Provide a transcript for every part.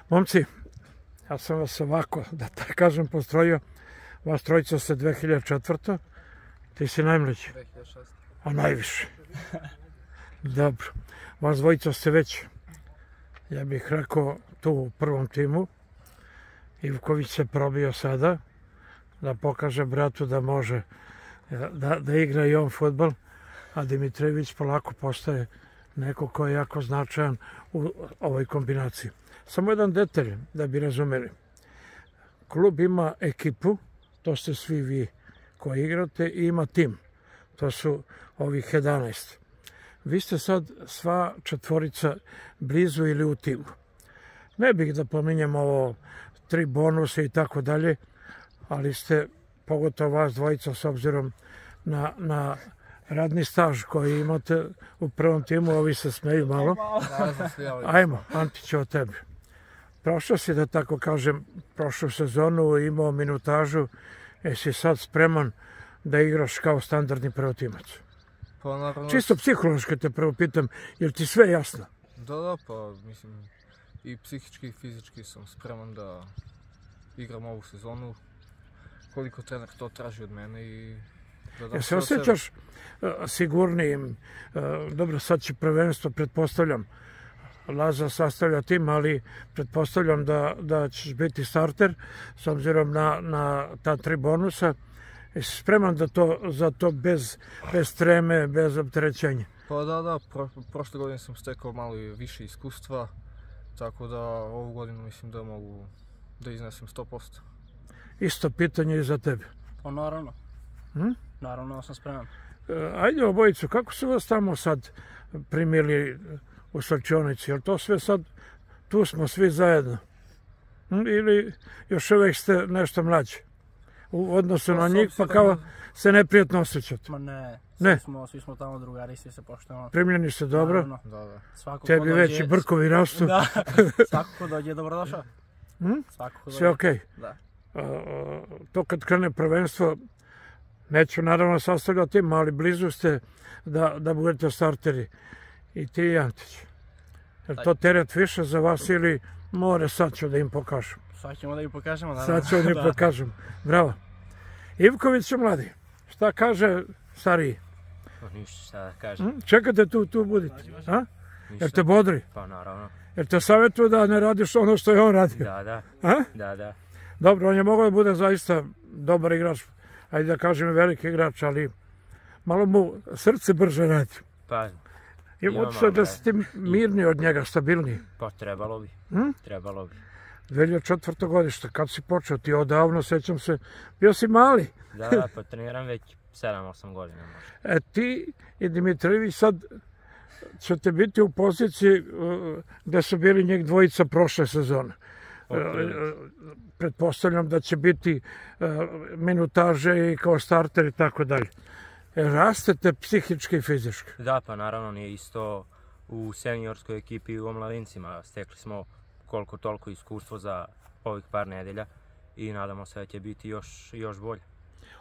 Momci, ja sam vas ovako, da tako kažem, postrojio. Vas trojica ste 2004. Ti si najmlađi. 2006. A najviše. Dobro. Vas dvojica ste već, ja bih rekao, tu u prvom timu. Ivković se probio sada da pokaže bratu da može da igra i on fudbal, a Dimitrijević polako postaje neko ko je jako značajan u ovoj kombinaciji. Samo jedan detalj da bi razumeli. Klub ima ekipu, to ste svi vi koji igrate, i ima tim. To su ovih 11. Vi ste sad sva četvorica blizu ili u timu. Ne bih da pominjem ovo 3 bonuse i tako dalje, ali ste, pogotovo vas dvojica, s obzirom na radni staž koji imate u prvom timu, ovi se smeju malo. Ajmo, Antić, o tebi. Prošao si, da tako kažem, prošlu sezonu, imao minutažu, jesi sad spreman da igraš kao standardni prvotimac? Pa naravno... Čisto psihološki te prvo pitam, je li ti sve jasno? Da, pa mislim, i psihički i fizički sam spreman da igram ovu sezonu, koliko trener to traži od mene i... Jel se osjećaš sigurnijim? Dobro, sad će prvenstvo, pretpostavljam, Laza sastavlja tim, ali pretpostavljam da ćeš biti starter s obzirom na ta 3 bonusa. Jesi spreman za to bez treme, bez opterećenja? Pa da, prošle godine sam stekao malo više iskustva, tako da ovu godinu mislim da mogu da iznesem 100%. Isto pitanje i za tebe. Pa naravno. Naravno sam spreman. Ajde obojicu, kako su vas tamo sad primili u slačionici? Je li to sve sad, tu smo svi zajedno? Ili još uvijek ste nešto mlađi u odnosu na njih, pa kao se neprijatno osjećate? Ma ne, svi smo tamo drugari, svi se poštujemo. Primljeni ste dobro? Da. Tebi već i brkovi rastu? Da, svako ko dođe je dobrodošao. Sve okej? Da. To kad krene prvenstvo, neću naravno sastavljati tim, ali blizu ste da budete starteri. I ti i Antić. Je to teret više za vas ili more, sad ću da im pokažem? Sad ćemo da im pokažemo, naravno. Sad ću da im pokažem. Bravo. Ivković je mladi. Šta kaže stariji? Ništa, šta da kažem. Čekate tu budite. Jer te bodri? Pa naravno. Jer te savjetuju da ne radiš ono što je on radio? Da. Dobro, on je mogao da bude zaista dobar igrač, ajde da kažem veliki igrač, ali malo mu srce brže radi. Pa, ima otišao da si ti mirniji od njega, stabilniji. Pa trebalo bi. Trebalo bi. 2004. godište, kad si počeo, ti odavno, sećam se, bio si mali. Da, pa treniram već 7-8 godina možda. Ti i Dimitrijević sad ćete biti u poziciji gde su bili njih dvojica prošle sezone. Pretpostavljam da će biti minutaže i kao starter i tako dalje. Rastete psihički i fizički? Da, pa naravno nije isto u seniorskoj ekipi i u omladincima. Stekli smo koliko toliko iskustvo za ovih par nedelja i nadamo se da će biti još bolje.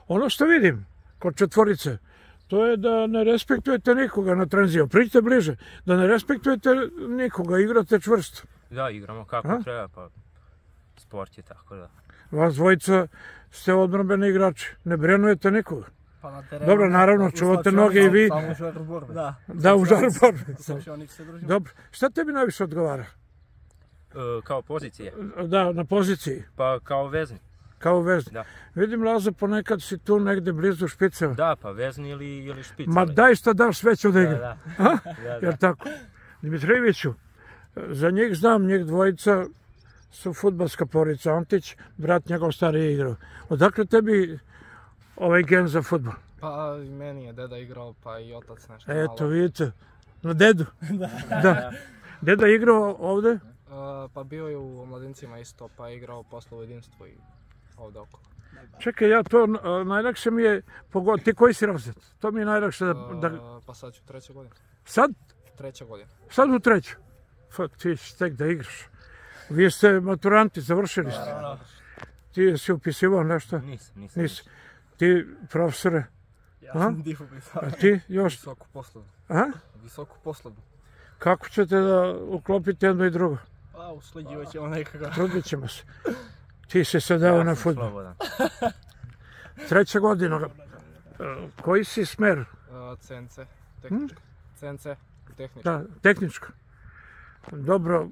Ono što vidim kod četvorice, to je da ne respektujete nikoga na tranziju. Priđite bliže, da ne respektujete nikoga, igrate čvrsto. Da, igramo kako treba, pa sport je tako da. Vas dvojica ste odbrambeni igrači, ne brenujete nikoga. Dobro, naravno, čuvate noge i vi. Samo u žaru borbe. Da, u žaru borbe. Dobro, šta tebi najviše odgovara? Kao pozicije? Da, na poziciji. Pa kao vezni. Kao vezni. Vidim, Laza, ponekad si tu negde blizu špiceva. Da, pa vezni ili špiceva. Ma daj šta daš sveću da igra. Da. Jer tako. Dimitrijeviću, za njih znam, njih dvojica su fudbalska porodica. Antić, brat njegov stariji igrao. Odakle tebi ovaj gen za fudbal? Pa i meni je deda igrao, pa i otac nešto malo. Eto, vidite, na dedu. Da. Deda igrao ovde? Pa bio je u omladincima isto, pa je igrao posle u jedinstvu i ovde okolo. Čekaj, ja to najlakše mi je pogoditi. Ti koji si razred? To mi je najlakše da... Pa sad ću 3. godina. Sad? 3. godina. Sad u 3. Ti si tek da igraš. Vi ste maturanti, završili ste. Ti si upisivao nešto? Nisam. Ti, profesore? Ja sam upisao. A ti još? Visoku poslovnu. A? Visoku poslovnu. Kako ćete da uklopite jedno i drugo? A, usleđivat ćemo nekako. Trudit ćemo se. Ti si se dao na fudbal. Slobodan. 3. godina. Koji si smer? CNC, tehnička. CNC, tehnička. Da, tehnička. Dobro,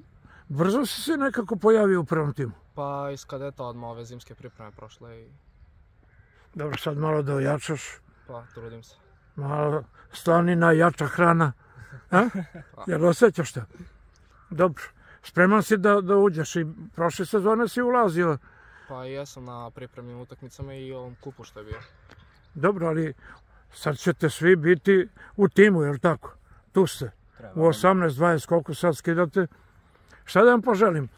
brzo si se nekako pojavio u prvom timu. Pa iz kadeta odmah ove zimske pripreme prošle i Dobro, sad malo da ojačaš. pa trudim se. Malo slanina, jača hrana. A? Jel osjećaš to? Dobro. Spreman si da uđeš i prošle sezone si ulazio. Pa i jesam na pripremnim utakmicama i ovom kupu što je bio. Dobro, ali sad ćete svi biti u timu, jel tako? Tu ste. U 18-20, koliko sad skidate. Šta da vam poželim?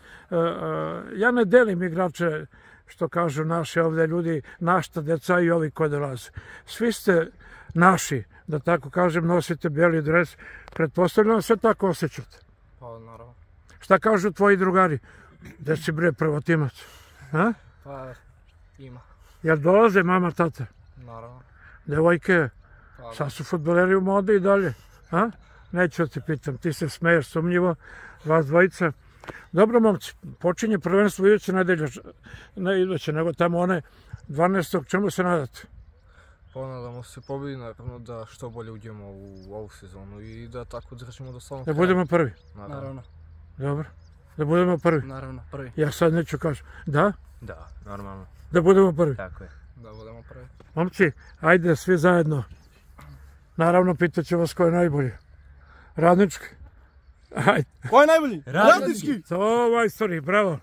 Ja ne delim igrače, što kažu naši ovdje ljudi, našta deca i ovi koji dolaze. Svi ste naši, da tako kažem, nosite bijeli dres. Pretpostavljam se tako osjećate. Pa naravno. Šta kažu tvoji drugari? Gde si bre prvotimac? A? Pa ima, Jel dolaze mama, tata? naravno. Devojke, Pa, sad su fudbaleri u modi i dalje. A? Neću da te pitam, ti se smeješ sumnjivo, vas dvojica. Dobro, momci, počinje prvenstvo iduće nedelje, ne iduće, nego tamo one 12. Čemu se nadate? ponadamo se pobedi, naravno da što bolje uđemo u ovu sezonu i da tako držimo do samog Da budemo prvi. Naravno, Dobro. Da budemo prvi. naravno, prvi. Ja sad neću kažem. Da? Da, normalno. Da budemo prvi. Tako je. Da budemo prvi. Momci, ajde svi zajedno. Naravno, pitaću vas ko je najbolji. Radnički? Ajde. Ko je najbolji? Radnički. Radnički! To majstori, bravo.